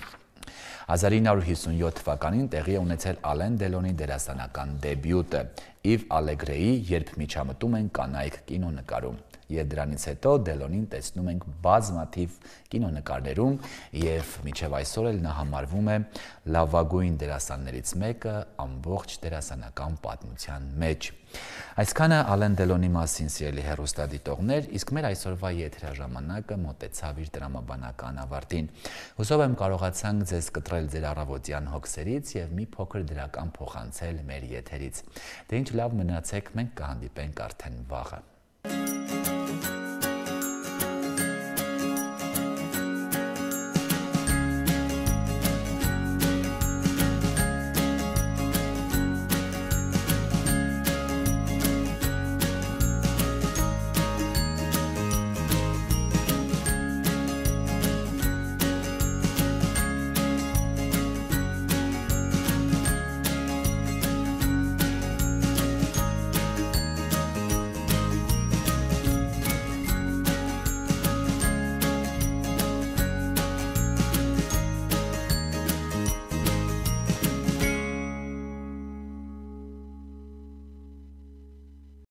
1957 թվականին տեղի է ունեցել Ալեն Դելոնի դերասանական դեբյուտը Իվ Ալեգրեի «Երբ միջամտում են կանայք» կինոնկարում։ Եվ դրանից հետո Դելոնին տեսնում ենք բազմաթիվ կինոնկարներում եւ մինչեւ այսօր էլ նա համարվում է լավագույն դերասաններից մեկը ամբողջ դերասանական պատմության մեջ։ Այսքանը Ալեն Դելոնի մասին, սիրելի հեռուստադիտողներ, իսկ մեր այսօրվա եթերաժամանակը մոտեցավ իր դրամաբանական ավարտին։ Հուսով եմ կարողացանք ձեզ կտրել ձեր առավոտյան հոգսերից եւ մի փոքր դրական փոխանցել մեր եթերից։ Դե ինչ լավ մնացեք, մենք կհանդիպենք արդեն վաղը։